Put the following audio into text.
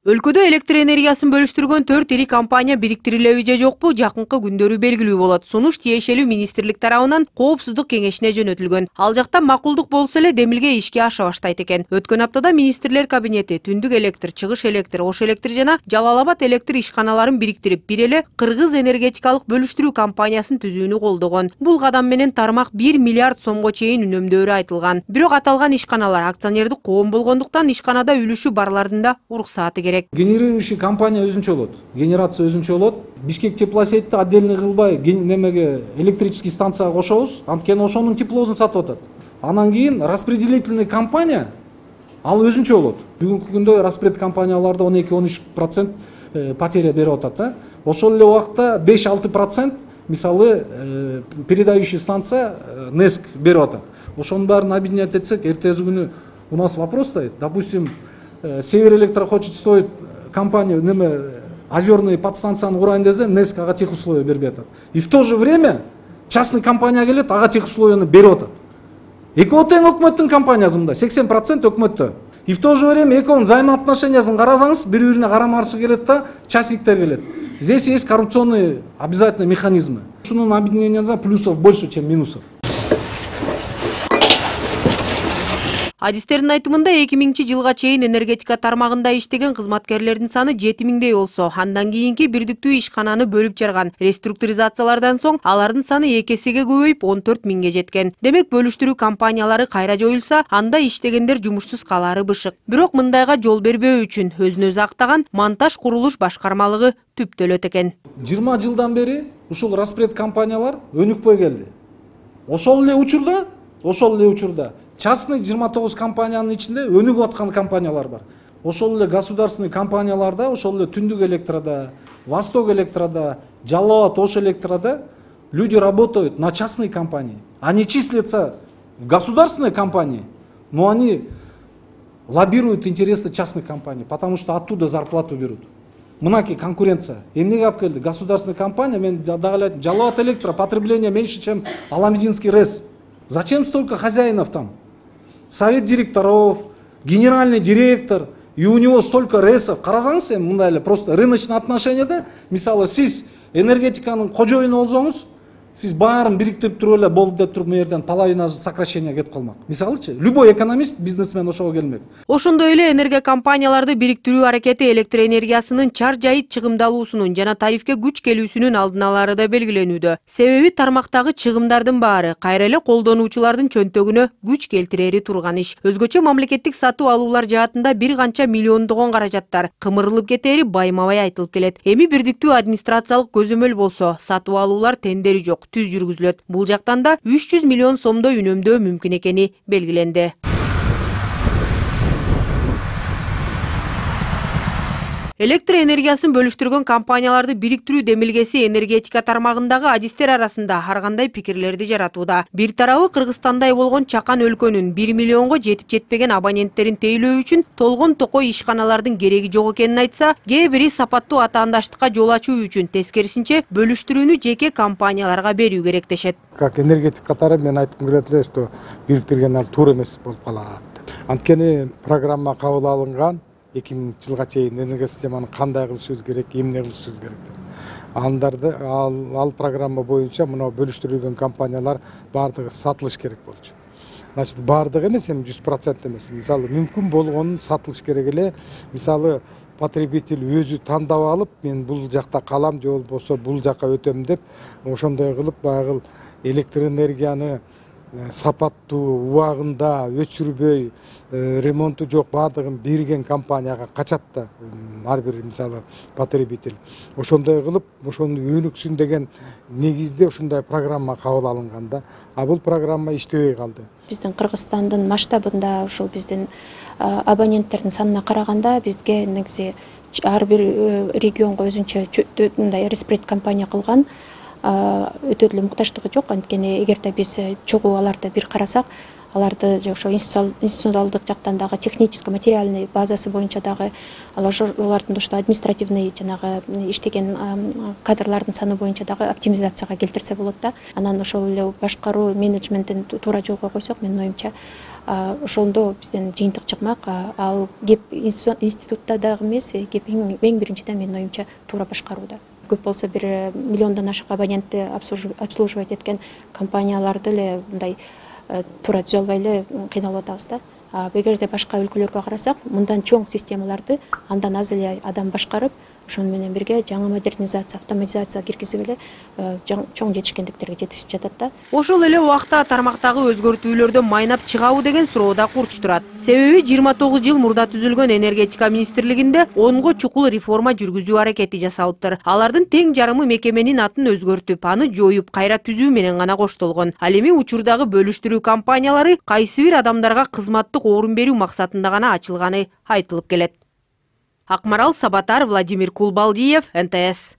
Өлкөдө электр энергиясын бөлүштүргөн 4 ири компания бириктирилеби же жокпу жакынкы күндөрү белгилүү болот. Сунуш тиешелүү министрлик тарабынан коопсуздук кеңешине жөнөтүлгөн. Ал жакта макулдук болсо эле демилге ишке аша баштайт экен. Өткөн аптада министрлер кабинети Түндүк электр, Чыгыш электр, Ош электр жана Жалал Абад электр ишканаларын бириктирип, бир эле Кыргыз энергетикалык бөлүштүрүү компаниясын түзүүнү колдогон. Бул кадам менен тармак 1 миллиард сомго чейин үнөмдөөрү айтылган. Бирок аталган ишканалар акционердик коом болгондуктан ишканада үлүшү барлардын да уруксааты керек. Генерирующий компания өзүнчө болот. Генерация өзүнчө болот. Бишкек теплосетти отдельный кылбай немеге электрический станцияга кошобуз. Анткени ошонун теплосун сатып атат. Анан кийин распределительный компания ал өзүнчө болот. Бүгүнкү күндө распред компанияларда 12-13% потеря берип атат. Ошол эле убакта 5-6% мисалы передающий станция НЭСК берип атат. Ошонун баарын объединять этсек, эртеси күнү у нас вопрос стоит. Допустим, Север Электро хочет строить компанию, озерные подстанцияны курайын десе, НЭСК ага тех условия бербей атат. И в то же время частный компания келет, ага тех условияны берип атат. Экөө тең өкмөттүн компаниясы мында, 80% өкмөттө. И в то же время экөөнүн взаимоотношениясын карасаңыз, бири-бирине карама-каршы келет да, частниктер келет. Здесь есть коррупционные обязательно механизмы. Ушунун объединениясында плюсов больше, чем минусов. Адистердин айтымында 2000-жылга чейин энергетика тармагында иштеген кызматкерлердин саны 7000дей болсо, андан кийинки бирдиктүү ишкананы бөлүп жарган реструктуризациялардан соң алардын саны 2 эсеге көбөйүп 14 миңге жеткен. Демек, бөлүштүрүү компаниялары кайра жоюлса, анда иштегендер жумушсуз калары бышык. Бирок мындайга жол бербөө үчүн өзүн-өзү актаган монтаж курулуш башкармалыгы түптөлөт экен. 20 жылдан бери ушул распред компаниялар өнүкпөй келди. Ошол эле учурда частный 29 компаниянын ичинде өнүгүп аткан компаниялар бар. Ошол эле государственный компанияларда, ошол эле Түндүк электрода, Восток электрода, Жалал Абад, Ош электрода люди работают на частные компании. Они числятся в государственной компании, но они лоббируют интересы частных компаний, потому что оттуда зарплату берут. Мынаки конкуренция. Эмнеге алып келди? Государственная компания, мен дагы Жалал Абад электро потребление меньше, чем Аламединский РЭС. Зачем столько хозяинов там? Совет директоров, генеральный директор, и у него столько РЭСов. Карасаңыз, мындай эле просто рыночный отношенияда, мисалы сиз энергетиканын кожоюну болсоңуз, сиз баарын бириктирип туруп эле болду деп туруп мэрден половина сокращения кетип калмак. Мисалычы, любой экономист, бизнесмен ошого келмек. Ошондой эле энергия компанияларды бириктирүү аракети электр энергиясынын чар жайыт чыгымдалуусунун жана тарифке күч келүүсүнүн алдын алары да белгиленүүдө. Себеби тармактагы чыгымдардын баары кайра эле колдонуучулардын чөнтөгүнө күч келтирери турган иш. Өзгөчө мамлекеттик сатып алуулар жаатында бир канча миллиондогон каражаттар кымырылып кетери байма-бай айтылып келет. Эми бирдиктүү администрациялык көзөмөл болсо, сатып алуулар тендери жок, түз жүргүзүлөт. Бул жактан да 300 миллион сомдой үнөмдөө мүмкүн экени белгиленди. Электр энергиясын бөлүштүргөн компанияларды бириктирүү демилгеси энергетика тармагындагы адистер арасында ар кандай пикирлерди жаратууда. Бир тарабы Кыргызстандай болгон чакан өлкөнүн 1 миллионго жетип жетпеген абоненттерин тейлөө үчүн толгон токой ишканалардын кереги жок экенин айтса, кээ бири сапаттуу атаандаштыкка жол ачуу үчүн тескерисинче бөлүштүрүүнү жеке компанияларга берүү керек дешет. Как энергетик катары мен айткым келет эле, что бириктирген ал туура эмес болуп калат. Анткени программа кабыл алынган 2000 жылга чейин энергия системаны кандай кылышыбыз керек, эмне кылышыбыз керек деп. Андарды ал программа боюнча мына бөлүштүрүлгөн компаниялар бардыгы сатылыш керек болчу. Значит, бардыгы эмес, 100% эмес. Мисалы, мүмкүн болгонун сатылыш керек эле. Мисалы, потребитель өзү тандап алып, мен бул жакта калам же болбосо бул жакка өтөм деп, ошондой кылып баягы электр энергияны сапаттуу убагында өчүрбөй, ремонту жок бардыгын берген компанияга качат да ар бир мисалы потребитель. Ошондой кылып, ошону өнүксүн деген негизде ушундай программа кабыл алынган да. А бул программа иштебей калды. Биздин Кыргызстандын масштабында ушул биздин абоненттердин санына караганда бизге негизи ар бир регионго өзүнчө мындай распред компания кылган өтө деле муктаждыгы жок. Анткени эгерде биз чогуу аларды бир карасак, аларды ошо институционалдык жактан дагы технический материальный базасы боюнча дагы алардын ошо административный жанагы иштеген кадрлардын саны боюнча дагы оптимизацияга келтирсе болот да. Анан ошол эле башкаруу менеджментин туура жолго койсок, менин оюмча ошондо бизден жыйынтык чыкмак. Ал кеп институтта дагы эмес, кеп эң биринчиден менин оюмча туура башкарууда. Көп болсо 1 миллиондон ашык абонентти обслуживать эткен компанияларды эле мындай туура түзө албай эле кыйналып атабыз да. Эгерде башка өлкөлөргө карасак, мындан чоң системаларды андан аз эле адам башкарып, ошону менен бирге жаңы модернизация, автоматизация киргизип эле чоң жетишкендиктерге жетишип жатат да. Ошол эле убакта тармактагы өзгөртүүлөрдөн майнап чыгабы деген суроо да курч турат. Себеби 29 жыл мурда түзүлгөн энергетика министрлигинде 10го чукул реформа жүргүзүү аракети жасалыптыр. Алардын тең жарымы мекеменин атын өзгөртүп, аны жоюп, кайра түзүү менен гана коштолгон. Ал эми учурдагы бөлүштүрүү компаниялары кайсы бир адамдарга кызматтык орун берүү максатында гана ачылганы айтылып келет. Акмарал Сабатар, Владимир Кулбалдиев, НТС.